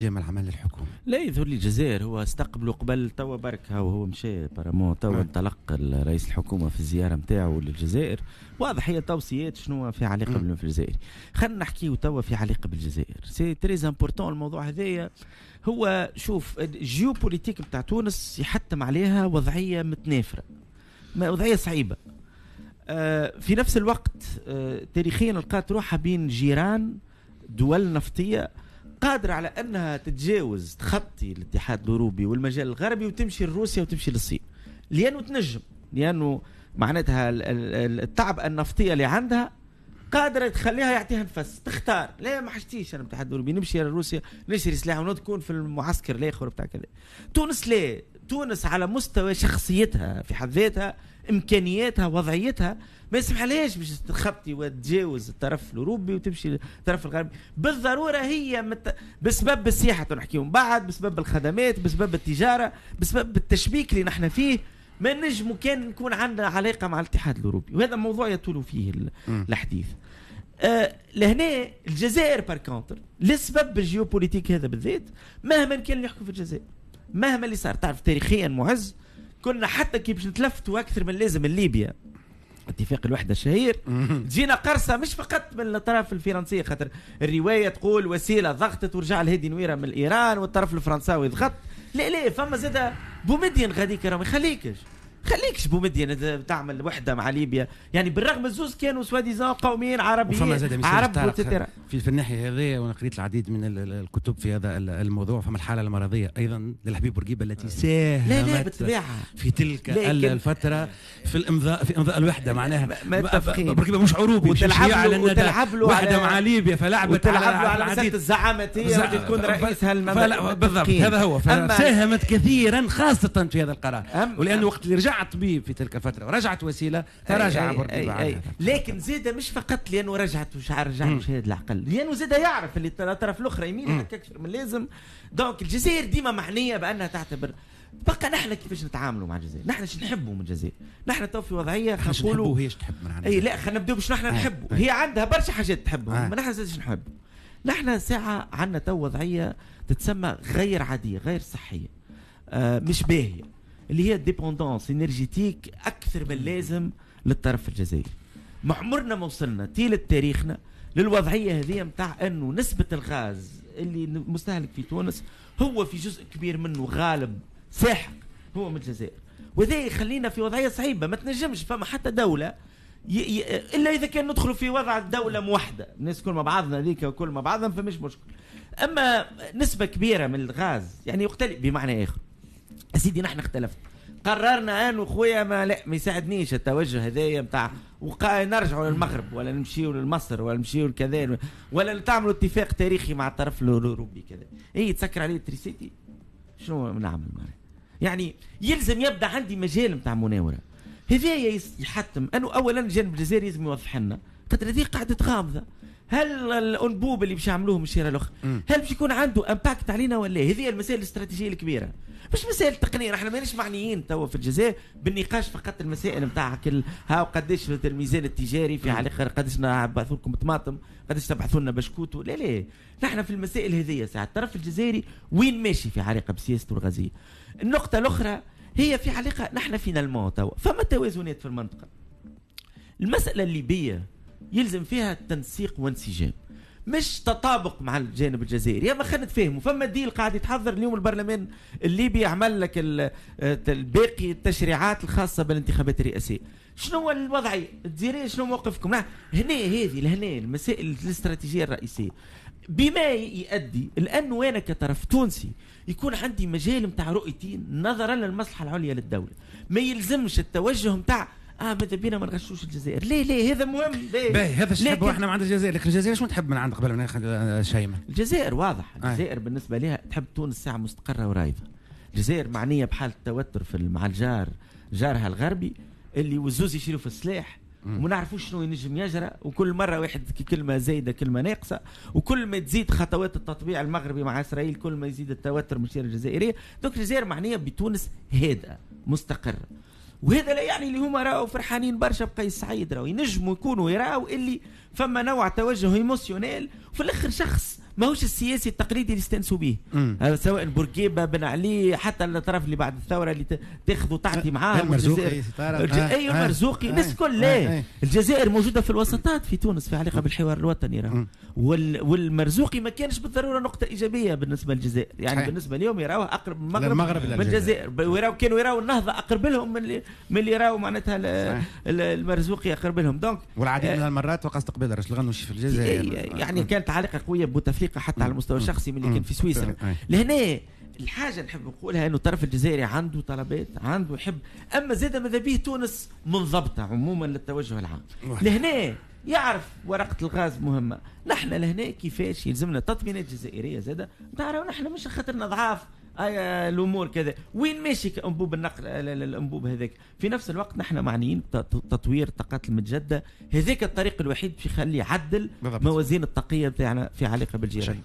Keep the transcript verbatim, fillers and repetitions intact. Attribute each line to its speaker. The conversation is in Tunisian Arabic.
Speaker 1: العمل الحكومي.
Speaker 2: لا يظهر لي الجزائر هو استقبلوا قبل توا برك، هو هو مشى apparemment توا انطلق رئيس الحكومة في الزيارة نتاعو للجزائر. واضح هي توصيات شنو في علاقة بالملف الجزائري. خلينا نحكيو توا في علاقة بالجزائر، c'est très important الموضوع هذايا. هو شوف ال géopolitique نتاع تونس يحتم عليها وضعية متنافره، وضعية صعيبة. آه في نفس الوقت آه تاريخيا لقات روحها بين جيران دول نفطية قادرة على أنها تتجاوز تخطي الاتحاد الأوروبي والمجال الغربي وتمشي لروسيا وتمشي للصين، لأنه تنجم، لأنه معناتها التعبئة النفطية اللي عندها قادرة تخليها يعطيها نفس تختار. لا ما حشتيش أنا الاتحاد الأوروبي، نمشي لروسيا نشري سلاح ونكون في المعسكر الآخر بتاع كذا. تونس لا، تونس على مستوى شخصيتها في حد ذاتها، امكانياتها، وضعيتها ما يسمحلهاش باش تخطي وتجاوز الطرف الاوروبي وتمشي للطرف الغربي بالضرورة. هي مت... بسبب السياحة نحكيو من بعد، بسبب الخدمات، بسبب التجارة، بسبب التشبيك اللي نحن فيه، ما نجموا كان نكون عندنا علاقة مع الاتحاد الاوروبي، وهذا موضوع يطول فيه الحديث. أه لهنا الجزائر par contre لسبب ال géopolitique هذا بالذات، مهما كان اللي يحكم في الجزائر، مهما اللي صار، تعرف تاريخيا معز كنا حتى كي باش نتلفتوا اكثر من اللازم من ليبيا، اتفاق الوحدة الشهير، جينا قرصة مش فقط من الطرف الفرنسي، خاطر الرواية تقول وسيلة ضغطت ورجع الهادي نويره من ايران والطرف الفرنساوي ضغط. لا لا، فما زاد بومدين غاديك راه ما يخليكش خليكش بومدين تعمل وحده مع ليبيا، يعني بالرغم الزوز كانوا soi-disant قوميين عربيين عرب
Speaker 1: في, في الناحية هذه. وانا قريت العديد من الكتب في هذا الموضوع. فما الحالة المرضية ايضا للحبيب بورقيبة التي ساهمت
Speaker 2: لا لا بالطبيعة
Speaker 1: في تلك الفترة في الامضاء في امضاء الوحدة، معناها بورقيبة مش عروبي
Speaker 2: وتلعب له وتلعب له
Speaker 1: وحده مع ليبيا، فلعبت
Speaker 2: وتلعب له على مسالة الزعامتيه واللي تكون رئيسها
Speaker 1: المملكة بالضبط. هذا هو، ساهمت كثيرا خاصة في هذا القرار، ولانه وقت اللي رجع طبيب في تلك الفترة ورجعت وسيلة تراجع بورقيبة.
Speaker 2: لكن زيد مش فقط لانه رجعت وش رجع شهاد العقل، لانه زيد يعرف اللي الطرف الاخرى يميل اكثر من لازم. donc الجزائر ديما معنية بانها تعتبر. بقى نحن كيفاش نتعاملوا مع الجزائر؟ نحن شو نحبوا من الجزائر؟ نحن تو في وضعية
Speaker 1: خلينا نقولوا هي تحب من عندها.
Speaker 2: اي لا خلينا نبداو باش نحن نحبوا، هي عندها برشا حاجات تحبهم، ما نحن زاد نحبوا. نحن ساعة عندنا تو وضعية تتسمى غير عادية، غير صحية، آه مش باهيه، اللي هي dépendance énergétique اكثر من اللازم للطرف الجزائري. ما عمرنا ما وصلنا طيلة تاريخنا للوضعيه هذه نتاع انه نسبه الغاز اللي مستهلك في تونس هو في جزء كبير منه غالب ساحق هو من الجزائر، وهذا يخلينا في وضعية صعيبة. ما تنجمش فما حتى دولة ي... ي... الا اذا كان ندخلوا في وضع دولة موحدة، الناس كل مع بعضنا هذيك وكل مع بعضنا فمش مشكل. اما نسبه كبيرة من الغاز يعني يختلف. بمعنى اخر سيدي نحن اختلفنا، قررنا انه خويا ما لا ما يساعدنيش التوجه هذايا نتاع وقا نرجعوا للمغرب ولا نمشيوا لمصر ولا نمشيوا لكذا ولا تعملوا اتفاق تاريخي مع الطرف الاوروبي كذا، اي تسكر عليه l'électricité شنو نعمل معناها؟ يعني يلزم يبدا عندي مجال نتاع مناوره. هذايا يحتم انه اولا الجانب الجزائري لازم يوضح لنا، خاطر هذه قاعدة غامضة. هل الانبوب اللي باش يعملوه من الشارع الاخر هل باش يكون عنده impact علينا ولا؟ هذه المسائل الاستراتيجية الكبيرة، مش مسائل تقنية. احنا ماناش معنيين توا في الجزائر بالنقاش فقط المسائل نتاع كل ها قداش الميزان التجاري في علاقة قداش نبعثوا لكم طماطم، قداش تبعثوا لنا بشكوتو. لا لا، نحن في المسائل هذه ساعة الطرف الجزائري وين ماشي في علاقة بسياسته الغازية. النقطة الاخرى هي في علاقة نحن finalement توا فما توازنات في المنطقة. المسالة الليبية يلزم فيها تنسيق وانسجام، مش تطابق مع الجانب الجزائري. يا ما خلينا نتفاهموا، فما deal قاعد يتحضر اليوم. البرلمان الليبي عمل لك الباقي التشريعات الخاصة بالانتخابات الرئاسية. شنو هو الوضعية؟ الجزائرية شنو موقفكم؟ هنا هذه لهنا المسائل الاستراتيجية الرئيسية، بما يؤدي لانه انا كطرف تونسي يكون عندي مجال نتاع رؤيتي نظرا للمصلحة العليا للدولة. ما يلزمش التوجه نتاع اه ماذا بينا ما نغشوش الجزائر. ليه ليه هذا مهم.
Speaker 1: باهي هذا الشيء نحبه احنا من عند الجزائر، لكن الجزائر شنو تحب من عند قبل ما ناخذ شيماء؟
Speaker 2: الجزائر واضح، الجزائر آه. بالنسبة لها تحب تونس ساعة مستقره ورايضه. الجزائر معنية بحاله توتر في مع الجار، جارها الغربي اللي وزوز يشيلوا في السلاح وما نعرفوش شنو ينجم يجرى، وكل مرة واحد كلمة زايدة كلمة ناقصه، وكل ما تزيد خطوات التطبيع المغربي مع اسرائيل كل ما يزيد التوتر من الشارع الجزائرية. donc الجزائر معنية بتونس هادئة مستقره، وهذا لا يعني اللي هما راهو فرحانين برشا بقيس سعيد، راهو ينجموا يكونوا يراو اللي فما نوع توجه émotionnel، وفي الاخر شخص ماهوش السياسي التقليدي اللي استانسوا به، سواء بورقيبة، بن علي، حتى الطرف اللي بعد الثورة اللي تاخذ وتعطي معاه
Speaker 1: المرزوقي،
Speaker 2: اي المرزوقي، الناس الكل. لا، الجزائر موجودة في الوسطات في تونس في علاقة بالحوار الوطني راه، والمرزوقي ما كانش بالضرورة نقطة ايجابية بالنسبة للجزائر، يعني صحيح. بالنسبة لهم يراوه اقرب من المغرب, المغرب من الجزائر، ويراو كانوا يراو النهضة اقرب لهم من اللي من اللي يراو معناتها المرزوقي اقرب لهم. donc
Speaker 1: والعديد من المرات وقع استقبال رشيد الغنوشي في الجزائر،
Speaker 2: يعني كانت علاقة قوية ببوتفليقه حتى على المستوى الشخصي من اللي كان في سويسرا. لهنا الحاجة نحب نقولها انه الطرف الجزائري عنده طلبات، عنده يحب، اما زاد ماذا به تونس منضبطة عموما للتوجه العام. لهنا يعرف ورقة الغاز مهمة. نحن لهنا كيفاش يلزمنا تطمينات جزائرية زاده، تعرفوا نحن مش خاطرنا ضعاف آه الامور كذا، وين ماشي انبوب النقل الانبوب هذاك. في نفس الوقت نحن معنيين بتطوير الطاقات المتجددة، هذاك الطريق الوحيد باش يخلي يعدل موازين الطاقية بتاعنا في علاقة بالجيران.